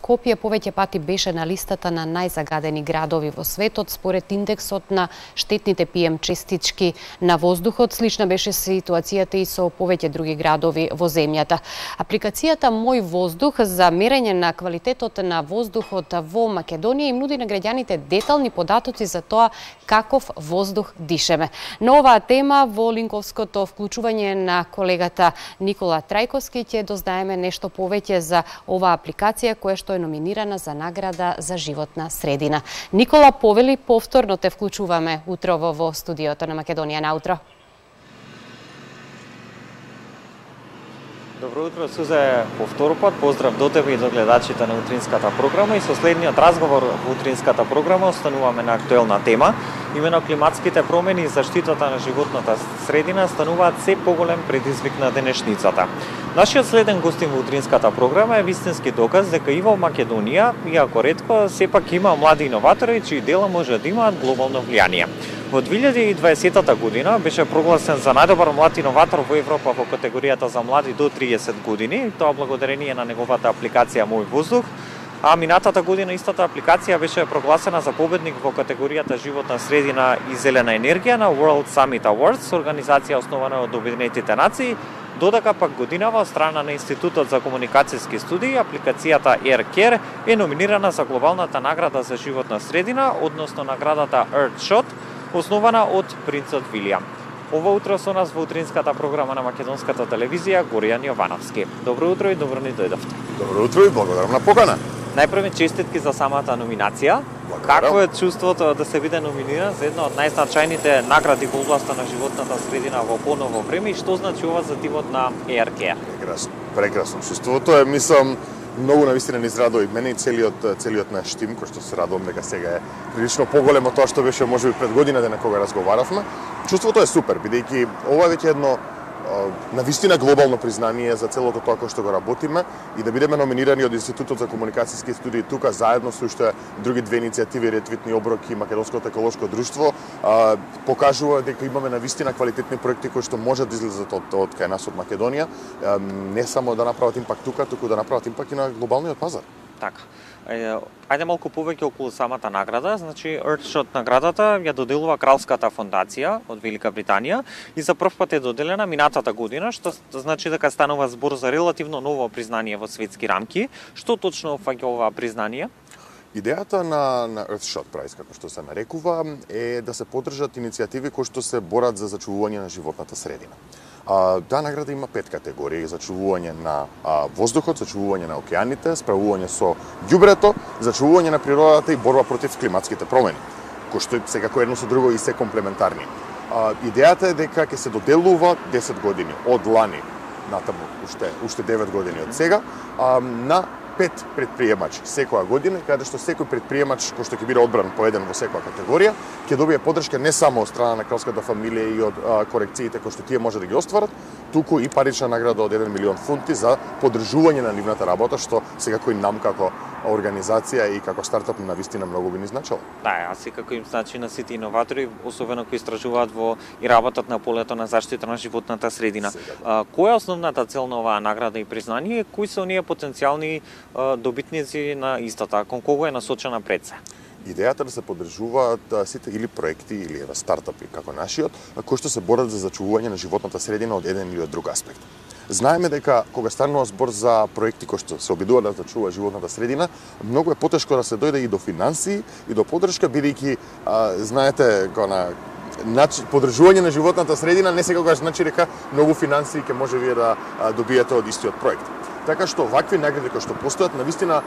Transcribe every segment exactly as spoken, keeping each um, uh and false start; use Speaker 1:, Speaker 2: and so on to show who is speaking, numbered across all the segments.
Speaker 1: Скопје повеќе пати беше на листата на најзагадени градови во светот според индексот на штетните пи ем честички на воздухот. Слична беше ситуацијата и со повеќе други градови во земјата. Апликацијата Мој воздух за мерење на квалитетот на воздухот во Македонија им нуди на граѓаните детални податоци за тоа каков воздух дишеме. На оваа тема во линковското вклучување на колегата Никола Трајковски ќе дознаеме нешто повеќе за оваа апликација која што е номинирана за награда за животна средина. Никола, повели, повторно те вклучуваме утрово во студиото на Македонија на утро.
Speaker 2: Добро утро, Сузе, по втор пат. Поздрав до тебе и до гледачите на утринската програма. И со следниот разговор во утринската програма остануваме на актуелна тема. Имено климатските промени и заштитата на животната средина стануваат се поголем предизвик на денешницата. Нашиот следен гостин во утринската програма е вистински доказ дека и во Македонија, иако ретко, сепак има млади иноватори чии дела може да имаат глобално влијание. Во две илјади и дваесетта година беше прогласен за најдобар млад иноватор во Европа во категоријата за млади до триесет години, тоа благодарение на неговата апликација Мој воздух, а минатата година истата апликација беше прогласена за победник во категоријата животна средина и зелена енергија на World Summit Awards, организација основана од Обединетите нации. Додека пак годинава од страна на Институтот за комуникацијски студии, апликацијата AirCare е номинирана за глобалната награда за животна средина, односно наградата Earthshot, основана од принцот Вилијам. Ова утро со нас во утринската програма на македонската телевизија Горијан Јовановски. Добро утро и добро ни дојдовте.
Speaker 3: Добро утро и благодарам на покана.
Speaker 2: Најпрво честитки за самата номинација.
Speaker 3: Благодарам.
Speaker 2: Какво е чувството да се биде номиниран за една од најзначајните награди во областа на животната средина во поново време и што значи ова за тимот на AirCare?
Speaker 3: Прекрасно, прекрасно. Чувството е, мислам, многу навистина ни израдува и мене и целиот целиот наш тим, кој што се радувам дека сега е прилично поголем од тоа што беше можеби пред година дена кога разговаравме. Чувството е супер, бидејќи ова е веќе едно навистина глобално признание за целото тоа кој што го работиме и да бидеме номинирани од Институтот за комуникацијски студии тука заедно со уште други две иницијативи, Ретвитни оброк и Македонското еколошко друштво, покажува дека имаме навистина квалитетни проекти кои што можат да излезат од, од кај нас од Македонија, не само да направат импакт тука, туку да направат импакт и на глобалниот пазар.
Speaker 2: Така. Ајде малку повеќе околу самата награда. Значи, Earthshot наградата ја доделува Кралската фондација од Велика Британија и за прв пат е доделена минатата година, што значи дека станува збор за релативно ново признание во светски рамки. Што точно опфаќа оваа признание?
Speaker 3: Идејата на, на Earthshot Prize, како што се нарекува, е да се поддржат иницијативи кои што се борат за зачувување на животната средина. А, таа награда има пет категории: зачувување на а, воздухот, зачувување на океаните, справување со ѓубрето, зачувување на природата и борба против климатските промени, кои што секако едно со друго и се комплементарни. А, идејата е дека ќе се доделува десет години од лани натаму уште уште девет години од сега а, на пет предприемачи секоја година, каде што секој предприемач кој што ќе биде одбран по еден во секоја категорија, ќе добие поддршка не само од страна на кралската фамилија и од а, корекциите кои што тие може да ги остварат, туку и парична награда од еден милион фунти за поддржување на нивната работа, што секако и нам како организација и како стартап на вистина многу би ни значило.
Speaker 2: Да, а секако им значи на сите иноватори, особено кои истражуваат во и работат на полето на заштита на животната средина. А, која е основната цел на оваа награда и признание? Кои се оние потенцијални а, добитници на истата? Кон кого е насочена пред се?
Speaker 3: Идејата да се поддржуваат сите или проекти или еве стартапи како нашиот, кои што се борат за зачувување на животната средина од еден или од друг аспект. Знаеме дека кога станува збор за проекти кои што се обидуваат да зачува животната средина, многу е потешко да се дојде и до финансии и до поддршка, бидејќи знаете кога начин поддржување на животната средина не секогаш значи дека многу финансии ќе може вие да добиете од истиот проект. Така што вакви награди кои што постојат навистина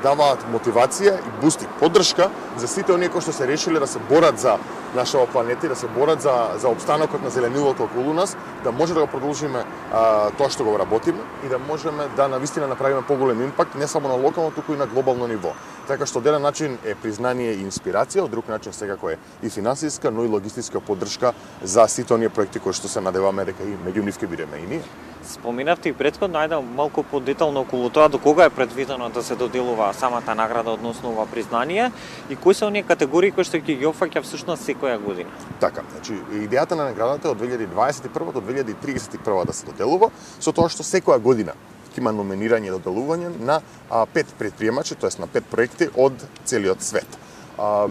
Speaker 3: даваат мотивација и бусти поддршка за сите оние кои што се решиле да се борат за нашава планета и да се борат за за опстанокот на зеленилото околу нас, да може да го продолжиме а, тоа што го работиме и да можеме да навистина направиме поголем импакт не само на локално, туку и на глобално ниво. Така што од еден начин е признание и инспирација, од друг начин секако е и финансиска, но и логистичка поддршка за сите оние проекти кои што се надеваме дека и меѓу нив ќе бидеме и ние.
Speaker 2: Споминавте и претходно, ајде малку подетално околу тоа до кога е предвидено да се доделува самата награда односно ова признание и кои се оние категории кои што ќе ги опфаќа всушност секоја година?
Speaker 3: Така, значи идејата на наградата е од две илјади дваесет и прва до две илјади триесет и прва да се доделува, со тоа што секоја година ќе има номинирање и доделување на а, пет предприемачи, тоест на пет проекти од целиот свет. А,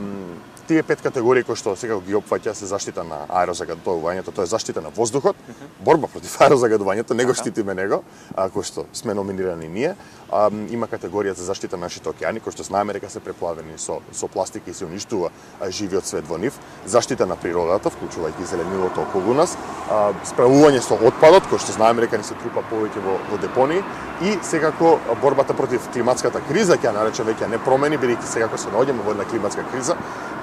Speaker 3: Тие пет категории кои што сега ги опфаќа се заштита на аерозагадувањето, тоа е заштита на воздухот, борба против аерозагадувањето, него штитиме него, а, кој што сме номинирани ние. А, има категорија за заштита на нашите океани, кои што знаеме дека се преплавени со со пластика и се уништува живиот свет во нив, заштита на природата, вклучувајќи зеленилото околу нас, а, справување со отпадот, кој што знаеме дека ни се трупа повеќе во, во депонии, и секако борбата против климатската криза, ќе ја наречем веќе не промени, бидејќи секако се наоѓаме во една климатска криза.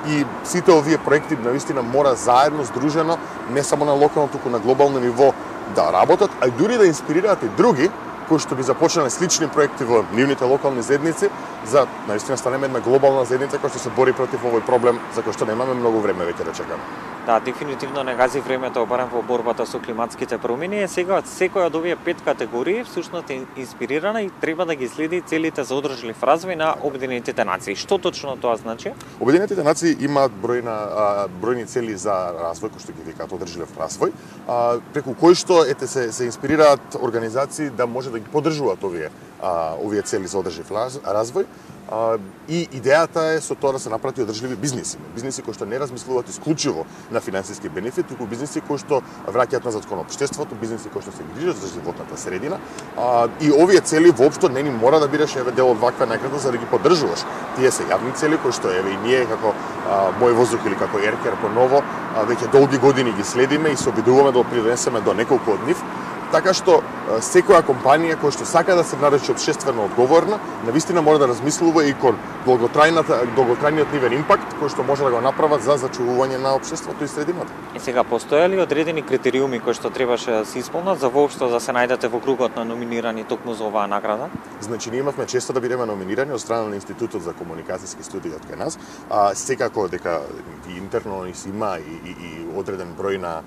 Speaker 3: И сите овие проекти навистина мора заедно, здружено, не само на локално, туку на глобално ниво да работат, а и дури да инспирираат и други кои што би започнале слични проекти во нивните локални заедници, за навистина станеме една глобална заедница која што се бори против овој проблем за кој што немаме многу време веќе да чекаме.
Speaker 2: Да, дефинитивно не гази времето барем во борбата со климатските промени. Сега секој од овие пет категории всушност е инспирирана и треба да ги следи целите за одржлив развој на Обединетите нации. Што точно тоа значи?
Speaker 3: Обединетите нации имаат бројна а, бројни цели за развој, кои што ги викаат одржлив развој, а, преку кои што ете се се инспирираат организации да може да ги поддржуваат овие а, овие цели за одржлив развој. Uh, и идејата е со тоа да се направи одржливи бизниси. Бизниси кои што не размислуваат исклучиво на финансиски бенефит, туку бизниси кои што враќаат назад кон општеството, бизниси кои што се грижат за животната средина. Uh, и овие цели воопшто не ни мора да бидеш еве дел од ваква награда за да ги поддржуваш. Тие се јавни цели кои што еве и ние како uh, Мој воздух или како Еркер поново uh, веќе долги години ги следиме и се обидуваме да придонесеме до неколку од нив. Така што секоја компанија која што сака да се нарече општествено одговорна, навистина мора да размислува и кон долготрајната долготрајниот нивен импакт кој што може да го направат за зачувување на општеството и средината.
Speaker 2: И сега постоја ли одредени критериуми кои што требаше да се исполнат за воопшто да се најдете во кругот на номинирани токму за оваа награда?
Speaker 3: Значи ние имавме често да бидеме номинирани од страна на Институтот за комуникацијски студии од кај нас, а секако дека и интерно ни си има и, и, и одреден број на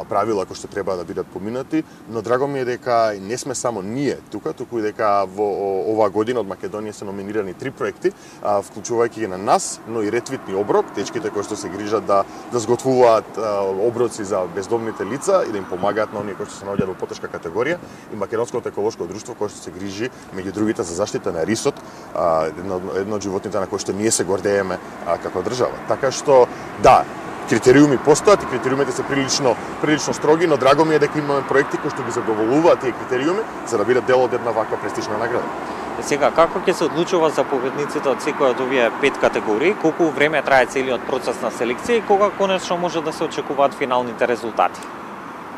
Speaker 3: правила кои што треба да бидат поминати, но драго ми е дека не сме само ние тука, туку и дека во оваа година од Македонија се номинирани три проекти, вклучувајќи ги на нас, но и Ретвитни оброк, дечките кои што се грижат да да зготвуваат оброци за бездомните лица и да им помагаат на оние кои што се наоѓаат во потешка категорија, и Македонското еколошко друштво кој што се грижи меѓу другите за заштита на рисот, едно, едно од животните на кои што ние се гордееме како држава. Така што да, критериуми постојат и критериумите се прилично прилично строги, но драго ми е дека имаме проекти кои што ги задоволуваат тие критериуми за да бидат дел од една ваква престижна награда.
Speaker 2: Сега, како ќе се одлучува за победниците од секој од овие пет категории, колку време трае целиот процес на селекција и кога конечно може да се очекуваат финалните резултати?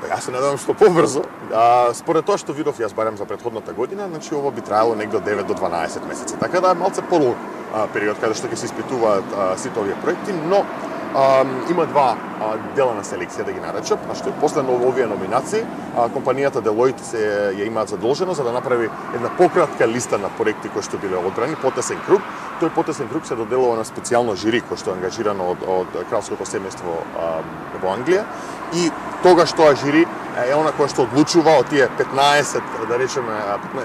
Speaker 3: Јас се надевам што побрзо. А, според тоа што видов јас барем за претходната година, значи ово би траело негде од девет до дванаесет месеци. Така да е малце подолг период каде што ќе се испитуваат а, сите овие проекти, но а, има два а, дела на селекција да ги наречам, а што е после овие номинации, а, компанијата Deloitte се ја имаат задолжено за да направи една пократка листа на проекти кои што биле одбрани, потесен круг. Тој потесен круг се доделува на специјално жири кој што е ангажирано од, од кралското семејство а, во Англија, и тогаш тоа жири е она која што одлучува од тие петнаесет, да речеме,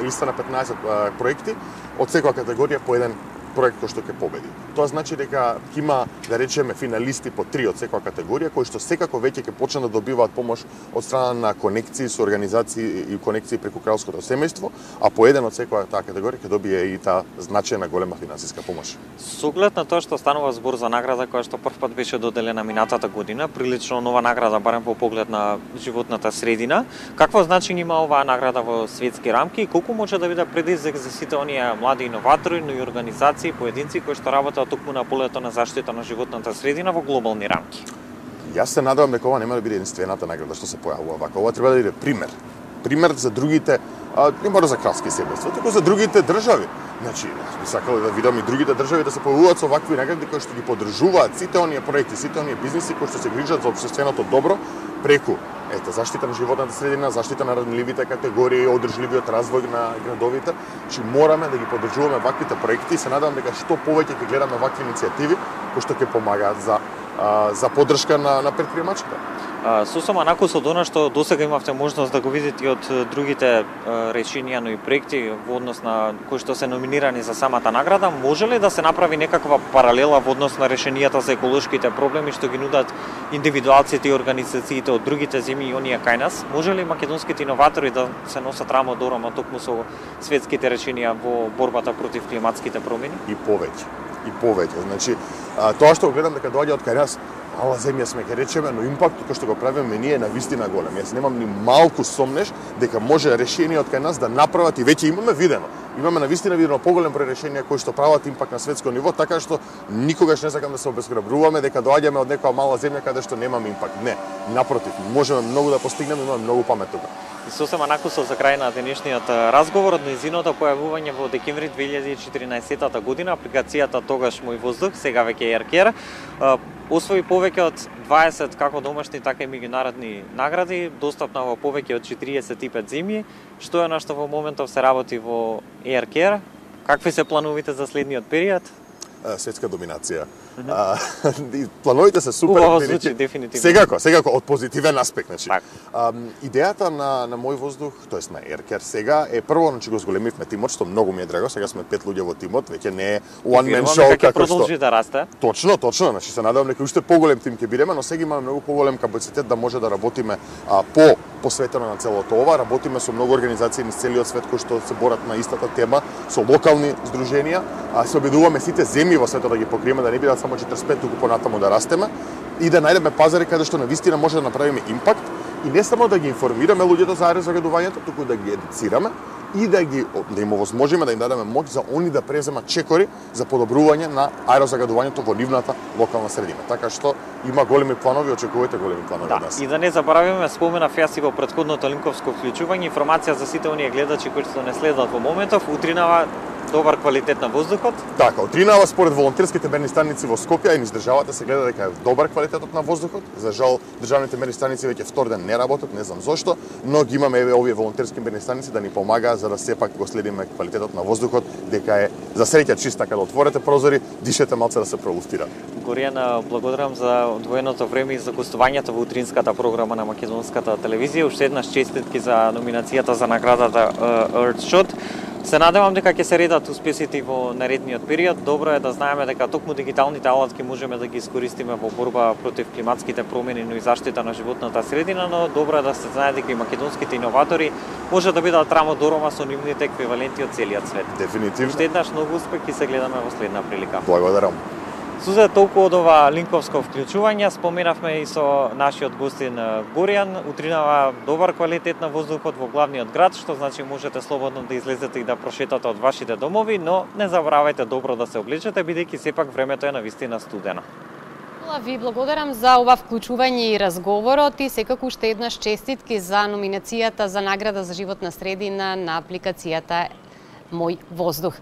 Speaker 3: листа на петнаесет проекти, од секоја категорија по еден проект кој што ќе победи. Тоа значи дека ќе има, да речеме, финалисти по три од секоја категорија кои што секако веќе ќе почнат да добиваат помош од страна на конекции со организации и конекции преку кралското семејство, а по еден од секоја таа категорија ќе добие и таа значајна голема финансиска помош.
Speaker 2: Со оглед на тоа што станува збор за награда која што првпат беше доделена минатата година, прилично нова награда барем по поглед на животната средина, какво значење има оваа награда во светски рамки и колку може да биде предизвик за сите оние млади иноватори, но и организации, поединци кои што работат токму на полето на заштита на животната средина во глобални рамки?
Speaker 3: Јас се надевам дека ова нема да биде единствената награда што се појавува вака. Ова треба да биде пример. Пример за другите, а, не мора за кралски семејства, туку за другите држави. Значи, би сакал да видам и другите држави да се појавуваат со вакви награди кои што ги поддржуваат сите оние проекти, сите оние бизниси кои што се грижат за општественото добро преку ете заштита на животната средина, заштита на ранливите категории, одржливиот развој на градовите. Чи мораме да ги поддржуваме ваквите проекти и се надевам дека што повеќе ќе гледаме вакви иницијативи кои што ќе помагаат за а, за поддршка на, на предприемачите.
Speaker 2: Сосема накус од она што досега имавте можност да го видите и од другите решенија, но и проекти во однос на кои што се номинирани за самата награда, може ли да се направи некаква паралела во однос на решенијата за еколошките проблеми што ги нудат индивидуалците и организациите од другите земји и оние кај нас? Може ли македонските иноватори да се носат рамо до рамо токму со светските решенија во борбата против климатските промени?
Speaker 3: И повеќе, и повеќе. Значи, тоа што гледам дека доаѓа од кај нас, мала земја сме, ке речеме, но импактот кој што го правиме ние е навистина голем. Јас немам ни малку сомнеш дека може решение од кај нас да направат и веќе имаме видено. Имаме навистина видено поголем број решенија кои што прават импакт на светско ниво, така што никогаш не сакам да се обезграбруваме дека доаѓаме од некоја мала земја каде што немаме импакт. Не, напротив, можеме многу да постигнеме, имаме многу памет тука.
Speaker 2: И сосема накусов за крај на денешниот разговор од нејзиното појавување во декември две илјади и четиринаесетта година, апликацијата тогаш Мој воздух, сега веќе AirCare, освои повеќе од дваесет како домашни, така и меѓународни награди, достапна во повеќе од четириесет и пет земји. Што е на што во моментов се работи во AirCare? Какви се плановите за следниот период?
Speaker 3: Светска доминација. Mm -hmm. Плановите се супер.
Speaker 2: Убаво звучи, дефинитивно.
Speaker 3: Секако, секако, од позитивен аспект. Значи.
Speaker 2: Так.
Speaker 3: А, идејата на, на Мој воздух, тоест на AirCare сега, е прво, значи го зголемивме тимот, што многу ми е драго, сега сме пет луѓе во тимот, веќе не е one man show како што...
Speaker 2: продолжи да расте.
Speaker 3: Точно, точно, значи се надевам дека уште поголем тим ќе бидеме, но сега имаме многу поголем капацитет да може да работиме а, по посветено на целото ова, работиме со многу организации низ целиот свет кои што се борат на истата тема, со локални здруженија, а се обидуваме сите земји во светот да ги покриеме, да не бидат само четиридесет и пет, туку понатаму да растеме и да најдеме пазари каде што навистина може да направиме импакт и не само да ги информираме луѓето за аерозагадувањето, туку да ги едуцираме и да ги да им овозможиме да им дадеме моќ за они да преземат чекори за подобрување на аерозагадувањето во нивната локална средина. Така што има големи планови, очекувајте големи планови од
Speaker 2: да,
Speaker 3: нас.
Speaker 2: И да не заборавиме, споменав јас и во претходното линковско вклучување, информација за сите оние гледачи кои што не следат во моментов, утринава добар квалитет на воздухот?
Speaker 3: Така, утринава според волонтерските мерни станици во Скопје и низ државата се гледа дека е добар квалитетот на воздухот. За жал, државните мерни станици веќе втор ден не работат, не знам зошто, но ги имаме еве овие волонтерски мерни станици да ни помагаат за да сепак го следиме квалитетот на воздухот, дека е за среќа чист, така да отворете прозори, дишете малце да се пролуфтира.
Speaker 2: Горијан, благодарам за одвоеното време и за гостувањето во утринската програма на македонската телевизија. Уште еднаш честитки за номинацијата за наградата Earthshot. Се надевам дека ќе се редат успесите во наредниот период. Добро е да знаеме дека токму дигиталните алатки можеме да ги искористиме во борба против климатските промени, но и заштита на животната средина, но добро е да се знае дека и македонските иноватори може да бидат рамо дорома со нивните еквиваленти од целиот свет.
Speaker 3: Дефинитивно.
Speaker 2: Уште еднаш многу успех и се гледаме во следна прилика.
Speaker 3: Благодарам.
Speaker 2: Сузе, толку од ова линковско вклучување, споменавме и со нашиот гостин Горијан, утринава добар квалитет на воздухот во главниот град, што значи можете слободно да излезете и да прошетате од вашите домови, но не заборавајте добро да се облечете, бидејќи сепак времето е навистина студено.
Speaker 1: Ви благодарам за ова вклучување и разговорот и секако уште еднаш честитки за номинацијата за награда за животна средина на апликацијата Мој воздух.